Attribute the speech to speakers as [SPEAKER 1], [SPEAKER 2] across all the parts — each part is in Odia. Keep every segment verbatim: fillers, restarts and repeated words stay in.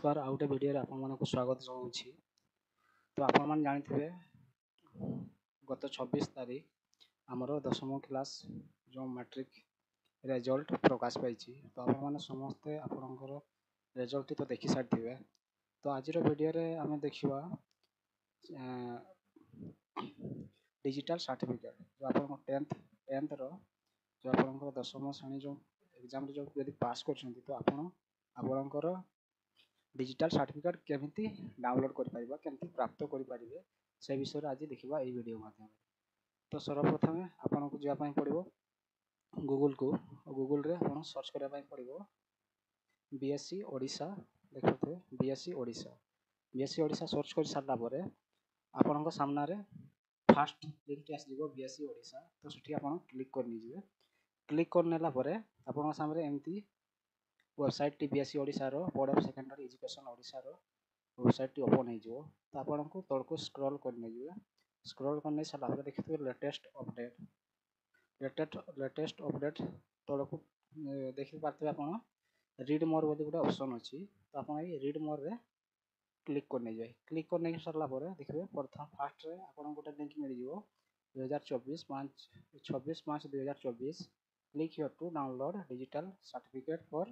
[SPEAKER 1] ନମସ୍କାର, ଆଉ ଗୋଟେ ଭିଡ଼ିଓରେ ଆପଣମାନଙ୍କୁ ସ୍ୱାଗତ ଜଣାଉଛି। ତ ଆପଣମାନେ ଜାଣିଥିବେ, ଗତ ଛବିଶ ତାରିଖ ଆମର ଦଶମ କ୍ଲାସ୍ ଯେଉଁ ମାଟ୍ରିକ ରେଜଲ୍ଟ ପ୍ରକାଶ ପାଇଛି। ତ ଆପଣମାନେ ସମସ୍ତେ ଆପଣଙ୍କର ରେଜଲ୍ଟଟି ତ ଦେଖି ସାରିଥିବେ। ତ ଆଜିର ଭିଡ଼ିଓରେ ଆମେ ଦେଖିବା ଡିଜିଟାଲ ସାର୍ଟିଫିକେଟ୍, ଯେଉଁ ଆପଣଙ୍କ ଟେନ୍ଥ ଟେନ୍ଥର ଯେଉଁ ଆପଣଙ୍କର ଦଶମ ଶ୍ରେଣୀ ଯେଉଁ ଏକ୍ଜାମ୍ରେ ଯେଉଁ ଯଦି ପାସ୍ କରିଛନ୍ତି, ତ ଆପଣ ଆପଣଙ୍କର ଡିଜିଟାଲ ସାର୍ଟିଫିକେଟ୍ କେମିତି ଡାଉନଲୋଡ଼୍ କରିପାରିବା, କେମିତି ପ୍ରାପ୍ତ କରିପାରିବେ, ସେ ବିଷୟରେ ଆଜି ଦେଖିବା ଏଇ ଭିଡ଼ିଓ ମାଧ୍ୟମରେ। ତ ସର୍ବପ୍ରଥମେ ଆପଣଙ୍କୁ ଯିବା ପାଇଁ ପଡ଼ିବ ଗୁଗୁଲକୁ। ଗୁଗୁଲରେ ଆପଣ ସର୍ଚ୍ଚ କରିବା ପାଇଁ ପଡ଼ିବ ବି ଏସ୍ ସି ଓଡ଼ିଶା। ଦେଖିପାରୁଥିବେ B S C Odisha. B S C Odisha search କରି ସାରିଲା ପରେ ଆପଣଙ୍କ ସାମ୍ନାରେ ଫାଷ୍ଟ ଲିଙ୍କଟି ଆସିଯିବ ବି ଏସ୍ ସି ଓଡ଼ିଶା। ତ ସେଠି ଆପଣ କ୍ଲିକ୍ କରି ନେଇଯିବେ। କ୍ଲିକ୍ କରିନେଲା ପରେ ଆପଣଙ୍କ ସାମ୍ନାରେ ଏମିତି ୱେବସାଇଟ୍ଟି ବି ଏସ୍ ସି ଓଡ଼ିଶାର, ବୋର୍ଡ଼ ଅଫ୍ ସେକେଣ୍ଡାରୀ ଏଜୁକେସନ୍ ଓଡ଼ିଶାର ୱେବସାଇଟ୍ଟି ଓପନ୍ ହେଇଯିବ। ତ ଆପଣଙ୍କୁ ତଳକୁ ସ୍କ୍ରଲ୍ କରି ନେଇଯିବେ। ସ୍କ୍ରଲ୍ କରି ନେଇ ସାରିଲା ପରେ ଦେଖିଥିବେ latest update. Latest latest update ତଳକୁ ଦେଖିପାରୁଥିବେ ଆପଣ ରିଡ୍ ମୋର୍ ବୋଲି ଗୋଟେ ଅପସନ୍ ଅଛି। ତ ଆପଣ ଏଇ ରିଡ୍ ମୋର୍ରେ କ୍ଲିକ୍ କରି ନେଇଯିବେ। କ୍ଲିକ୍ କରି ନେଇକି ସାରିଲା ପରେ ଦେଖିବେ ପ୍ରଥମ ଫାଷ୍ଟରେ ଆପଣଙ୍କୁ ଗୋଟେ ଲିଙ୍କ୍ ମିଳିଯିବ, ଦୁଇହଜାର ଚବିଶ ପାଞ୍ଚ ଛବିଶ ପାଞ୍ଚ ଦୁଇହଜାର ଚବିଶ, click here to download digital certificate for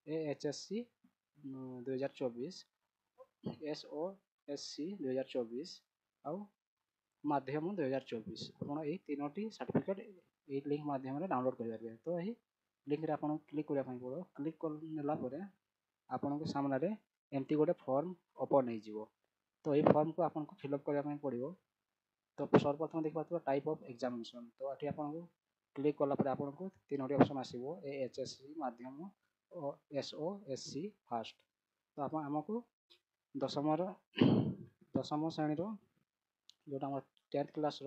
[SPEAKER 1] A H S C ଦୁଇହଜାର ଚବିଶ, ଏସ୍ ଓ ଏସ୍ ସି ଦୁଇହଜାର ଚବିଶ ଆଉ ମାଧ୍ୟମ ଦୁଇହଜାର ଚବିଶ। ଆପଣ ଏଇ ତିନୋଟି ସାର୍ଟିଫିକେଟ୍ ଏଇ ଲିଙ୍କ୍ ମାଧ୍ୟମରେ ଡାଉନଲୋଡ଼୍ କରିପାରିବେ। ତ ଏହି ଲିଙ୍କରେ ଆପଣଙ୍କୁ କ୍ଲିକ୍ କରିବା ପାଇଁ ପଡ଼ିବ। କ୍ଲିକ୍ କରିନେଲା ପରେ ଆପଣଙ୍କ ସାମ୍ନାରେ ଏମିତି ଗୋଟେ ଫର୍ମ ଓପନ୍ ହେଇଯିବ। ତ ଏଇ ଫର୍ମକୁ ଆପଣଙ୍କୁ ଫିଲ୍ଅପ୍ କରିବା ପାଇଁ ପଡ଼ିବ। ତ ସର୍ବପ୍ରଥମେ ଦେଖିପାରୁଥିବେ ଟାଇପ୍ ଅଫ୍ ଏକ୍ଜାମିନେସନ୍। ତ ଏଠି ଆପଣଙ୍କୁ କ୍ଲିକ୍ କଲା ପରେ ଆପଣଙ୍କୁ ତିନୋଟି ଅପସନ୍ ଆସିବ, ଏ ଏଚ୍ ଏସ୍ ସି, ମାଧ୍ୟମ ଓ S O S C first. ତ ଆପଣ ଆମକୁ ଦଶମର ଦଶମ ଶ୍ରେଣୀର ଯେଉଁଟା ଆମର ଟେନ୍ଥ କ୍ଲାସ୍ର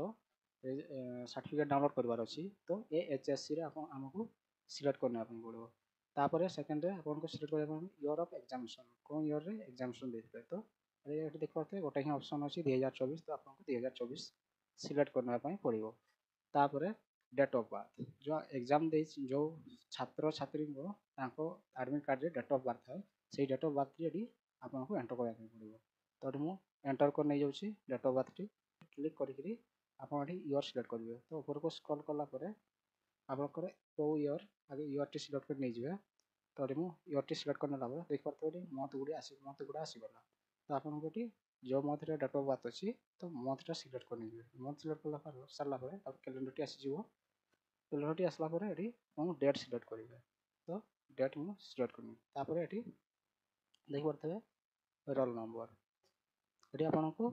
[SPEAKER 1] ସାର୍ଟିଫିକେଟ୍ ଡାଉନଲୋଡ଼୍ କରିବାର ଅଛି, ତ ଏ ଏଚ୍ ଏସ୍ ସିରେ ଆପଣ ଆମକୁ ସିଲେକ୍ଟ କରିନେବା ପାଇଁ ପଡ଼ିବ। ତାପରେ ସେକେଣ୍ଡରେ ଆପଣଙ୍କୁ ସିଲେକ୍ଟ କରିବା ପାଇଁ ଇୟର୍ ଅଫ୍ ଏକ୍ଜାମିନେସନ୍, କେଉଁ ଇୟର୍ରେ ଏକ୍ଜାମିନେସନ୍ ଦେଇଥିଲେ। ତ ଏଠି ଦେଖିପାରୁଥିବେ ଗୋଟେ ହିଁ ଅପସନ୍ ଅଛି ଦୁଇହଜାର ଚବିଶ। ତ ଆପଣଙ୍କୁ ଦୁଇହଜାର ଚବିଶ ସିଲେକ୍ଟ କରିନେବା ପାଇଁ ପଡ଼ିବ। ତାପରେ ଡେଟ୍ ଅଫ୍ ବାର୍ଥ, ଯେଉଁ ଏକ୍ଜାମ୍ ଦେଇଛି ଯେଉଁ ଛାତ୍ରଛାତ୍ରୀଙ୍କ ତାଙ୍କ ଆଡ଼ମିଟ୍ କାର୍ଡ଼ରେ ଡେଟ୍ ଅଫ୍ ବାର୍ଥ ଥାଏ, ସେଇ ଡେଟ୍ ଅଫ୍ ବାର୍ଥଟି ଏଠି ଆପଣଙ୍କୁ ଏଣ୍ଟର କରିବା ପାଇଁ ପଡ଼ିବ। ତ ଏଠି ମୁଁ ଏଣ୍ଟର କରି ନେଇଯାଉଛି ଡେଟ୍ ଅଫ୍ ବାର୍ଥଟି। କ୍ଲିକ୍ କରିକିରି ଆପଣ ଏଠି ଇୟର୍ ସିଲେକ୍ଟ କରିବେ। ତ ଉପରକୁ ସ୍କ୍ରଲ୍ କଲା ପରେ ଆପଣଙ୍କର କେଉଁ ଇୟର୍, ଆଗେ ଇୟର୍ଟି ସିଲେକ୍ଟ କରି ନେଇଯିବେ। ତ ଏଠି ମୁଁ ଇୟର୍ଟି ସିଲେକ୍ଟ କରିନେଲା ପରେ ଦେଖିପାରୁଥିବେ ଏଠି ମନ୍ଥ ଗୁଡ଼ିଏ ଆସି ମନ୍ଥ ଗୁଡ଼ା ଆସିଗଲା। ତ ଆପଣଙ୍କୁ ଏଠି ଯେଉଁ ମନ୍ଥରେ ଡେଟ୍ ଅଫ୍ ବାର୍ଥ ଅଛି, ତ ମନ୍ଥଟା ସିଲେକ୍ଟ କରି ନେଇଯିବେ। ମନ୍ଥ ସିଲେକ୍ଟ କଲା ପରେ ସାରିଲା ପରେ ତାପରେ କ୍ୟାଲେଣ୍ଡରଟି ଆସିଯିବ। କ୍ୟାଲେଣ୍ଡରଟି ଆସିଲା ପରେ ଏଠି ଆପଣ ଡେଟ୍ ସିଲେକ୍ଟ କରିବେ। ତ ଡେଟ୍ ମୁଁ ସିଲେକ୍ଟ କରିନେବି। ତାପରେ ଏଠି ଦେଖିପାରୁଥିବେ ରୋଲ୍ ନମ୍ବର। ଏଠି ଆପଣଙ୍କୁ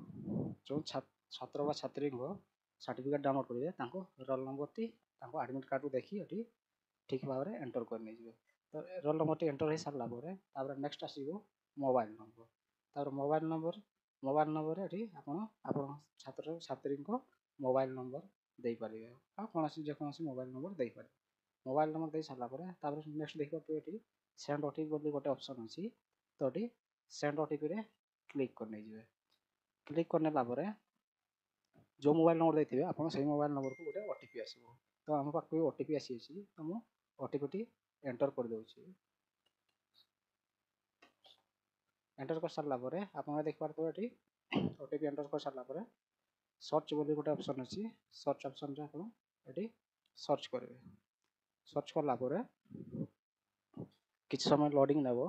[SPEAKER 1] ଯେଉଁ ଛାତ୍ର ବା ଛାତ୍ରୀଙ୍କ ସାର୍ଟିଫିକେଟ୍ ଡାଉନଲୋଡ଼୍ କରିବେ, ତାଙ୍କ ରୋଲ୍ ନମ୍ବରଟି ତାଙ୍କ ଆଡ଼ମିଟ୍ କାର୍ଡ଼ରୁ ଦେଖି ଏଠି ଠିକ୍ ଭାବରେ ଏଣ୍ଟର କରି ନେଇଯିବେ। ତ ରୋଲ୍ ନମ୍ବରଟି ଏଣ୍ଟର ହେଇସାରିଲା ପରେ ତାପରେ ନେକ୍ସଟ ଆସିବ ମୋବାଇଲ୍ ନମ୍ବର। ତାପରେ ମୋବାଇଲ୍ ନମ୍ବର ମୋବାଇଲ୍ ନମ୍ବରରେ ଏଠି ଆପଣ ଆପଣ ଛାତ୍ର ଛାତ୍ରୀଙ୍କ ମୋବାଇଲ୍ ନମ୍ବର ଦେଇପାରିବେ, ଆଉ କୌଣସି ଯେକୌଣସି ମୋବାଇଲ୍ ନମ୍ବର ଦେଇପାରିବେ। ମୋବାଇଲ୍ ନମ୍ବର ଦେଇ ସାରିଲା ପରେ ତାପରେ ନେକ୍ସଟ ଦେଖିପାରୁଥିବେ ଏଠି ସେଣ୍ଡ ଓ ଟି ପି ବୋଲି ଗୋଟେ ଅପସନ୍ ଅଛି। ତ ଏଠି ସେଣ୍ଡ ଓ ଟି ପିରେ କ୍ଲିକ୍ କରି ନେଇଯିବେ। କ୍ଲିକ୍ କରିନେଲା ପରେ ଯେଉଁ ମୋବାଇଲ୍ ନମ୍ବର ଦେଇଥିବେ ଆପଣ ସେଇ ମୋବାଇଲ୍ ନମ୍ବରକୁ ଗୋଟେ ଓ ଟି ପି ଆସିବ। ତ ଆମ ପାଖକୁ ଓ ଟି ପି ଆସିଯାଇଛି, ତ ମୁଁ ଓ ଟି ପିଟି ଏଣ୍ଟର କରିଦେଉଛି। ଏଣ୍ଟର କରିସାରିଲା ପରେ ଆପଣ ଦେଖିପାରୁଥିବେ ଏଠି ଓ ଟି ପି ଏଣ୍ଟର କରିସାରିଲା ପରେ ସର୍ଚ୍ଚ ବୋଲି ଗୋଟେ ଅପସନ୍ ଅଛି। ସର୍ଚ୍ଚ ଅପସନ୍ରେ ଆପଣ ଏଠି ସର୍ଚ୍ଚ କରିବେ। ସର୍ଚ୍ଚ କଲା ପରେ କିଛି ସମୟ ଲୋଡ଼ିଂ ନେବ।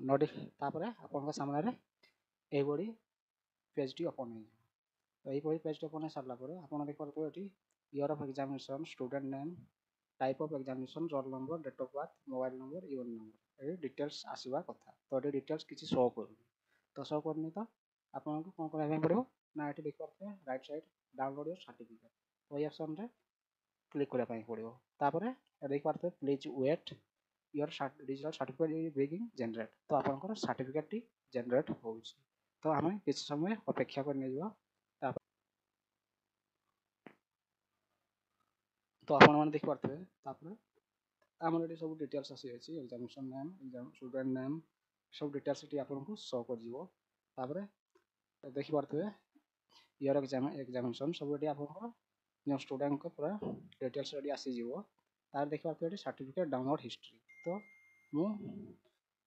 [SPEAKER 1] ନୋଟି ତାପରେ ଆପଣଙ୍କ ସାମ୍ନାରେ ଏଇଭଳି ପେଜ୍ଟି ଓପନ୍ ହେଇଯିବ। ତ ଏଇଭଳି ପେଜ୍ଟି ଓପନ୍ ହେଇସାରିଲା ପରେ ଆପଣ ଦେଖିପାରୁଥିବେ ଏଠି year of examination, student name, type of examination, roll number, date of birth, mobile number, year number, ଏଠି ଡିଟେଲ୍ସ ଆସିବା କଥା। ତ ଏଠି ଡିଟେଲ୍ସ କିଛି ଶୋ କରୁନି। ତ ଶୋ କରୁନି, ତ ଆପଣଙ୍କୁ କ'ଣ କରିବା ପାଇଁ ପଡ଼ିବ ନା ଏଠି ଦେଖିପାରୁଥିବେ right side download your certificate, ତ ଏଇ ଅପସନ୍ରେ କ୍ଲିକ୍ କରିବା ପାଇଁ ପଡ଼ିବ। ତାପରେ ଦେଖିପାରୁଥିବେ please wait, your digital certificate is being generate. ତ ଆପଣଙ୍କର ସାର୍ଟିଫିକେଟ୍ଟି ଜେନେରେଟ୍ ହେଉଛି। ତ ଆମେ କିଛି ସମୟ ଅପେକ୍ଷା କରି ନେଇଯିବା। ତାପରେ ତ ଆପଣମାନେ ଦେଖିପାରୁଥିବେ ତାପରେ ଆମର ଏଠି ସବୁ ଡିଟେଲ୍ସ ଆସିଯାଇଛି, examination name, exam student name, ସବୁ ଡିଟେଲ୍ସ ଏଠି ଆପଣଙ୍କୁ ଶୋ କରିଯିବ। ତାପରେ ଦେଖିପାରୁଥିବେ ଇୟର୍ ଏକ୍ଜାମ ଏକ୍ଜାମିନେସନ୍ ସବୁ ଏଠି ଆପଣଙ୍କର ଯେଉଁ ଷ୍ଟୁଡେଣ୍ଟଙ୍କ ପୁରା ଡିଟେଲ୍ସ ଏଠି ଆସିଯିବ। ତାର ଦେଖିପାରୁଥିବେ ଏଠି ସାର୍ଟିଫିକେଟ୍ ଡାଉନଲୋଡ଼ ହିଷ୍ଟ୍ରି। ତ ମୁଁ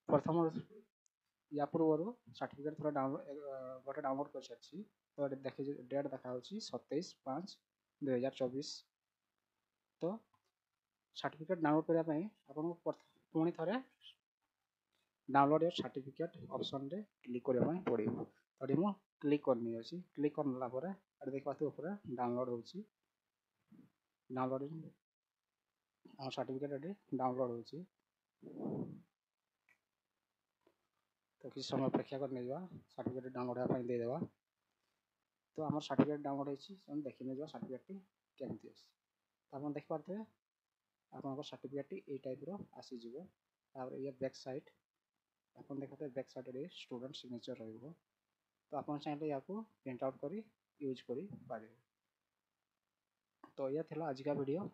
[SPEAKER 1] ପ୍ରଥମ ୟା ପୂର୍ବରୁ ସାର୍ଟିଫିକେଟ୍ ଥରେ ଡାଉନଲୋଡ଼ ଗୋଟେ ଡାଉନଲୋଡ଼ କରିସାରିଛି। ତ ଏଠି ଦେଖି ଡେଟ୍ ଦେଖାହେଉଛି ସତେଇଶ ପାଞ୍ଚ ଦୁଇହଜାର ଚବିଶ। ତ ସାର୍ଟିଫିକେଟ୍ ଡାଉନଲୋଡ଼ କରିବା ପାଇଁ ଆପଣଙ୍କୁ ପୁଣି ଥରେ ଡାଉନଲୋଡ଼ your certificate ଅପସନ୍ରେ କ୍ଲିକ୍ କରିବା ପାଇଁ ପଡ଼ିବ। ତ ଏଠି ମୁଁ କ୍ଲିକ୍ କରିନେଇଅଛି। କ୍ଲିକ୍ କରିନେଲା ପରେ ଏଠି ଦେଖିପାରୁଥିବେ ଉପରେ ଡାଉନଲୋଡ଼ ହେଉଛି। ଡାଉନଲୋଡ଼ ଆମ ସାର୍ଟିଫିକେଟ୍ ଏଠି ଡାଉନଲୋଡ଼ ହେଉଛି। ତ କିଛି ସମୟ ଅପେକ୍ଷା କରି ନେଇଯିବା, ସାର୍ଟିଫିକେଟ୍ ଡାଉନଲୋଡ଼ ହେବା ପାଇଁ ଦେଇଦେବା। ତ ଆମର ସାର୍ଟିଫିକେଟ୍ ଡାଉନଲୋଡ଼ ହେଇଛି, ଆମେ ଦେଖି ନେଇଯିବା ସାର୍ଟିଫିକେଟ୍ଟି କେମିତି ଅଛି। ତ ଆପଣ ଦେଖିପାରୁଥିବେ ଆପଣଙ୍କ ସାର୍ଟିଫିକେଟ୍ଟି ଏଇ ଟାଇପ୍ର ଆସିଯିବ। ତାପରେ ଇଏ ବ୍ୟାକ୍ ସାଇଡ଼୍ ଆପଣ ଦେଖିପାରୁଥିବେ, ବ୍ୟାକ୍ ସାଇଡ଼୍ରେ ଷ୍ଟୁଡେଣ୍ଟ ସିଗ୍ନେଚର୍ ରହିବ। ତ ଆପଣ ଚାହିଁଲେ ୟାକୁ ପ୍ରିଣ୍ଟ ଆଉଟ୍ କରି ୟୁଜ୍ କରିପାରିବେ। ତ ଏଇଆ ଥିଲା ଆଜିକା ଭିଡ଼ିଓ।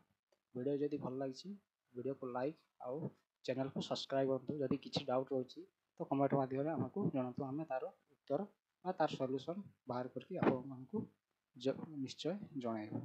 [SPEAKER 1] ଭିଡ଼ିଓ ଯଦି ଭଲ ଲାଗିଛି, ଭିଡ଼ିଓକୁ ଲାଇକ୍ ଆଉ ଚ୍ୟାନେଲକୁ ସବସ୍କ୍ରାଇବ୍ କରନ୍ତୁ। ଯଦି କିଛି ଡାଉଟ୍ ରହୁଛି ତ କମେଣ୍ଟ ମାଧ୍ୟମରେ ଆମକୁ ଜଣାନ୍ତୁ, ଆମେ ତା'ର ଉତ୍ତର ବା ତା'ର ସଲ୍ୟୁସନ୍ ବାହାର କରିକି ଆପଣମାନଙ୍କୁ ନିଶ୍ଚୟ ଜଣାଇବୁ।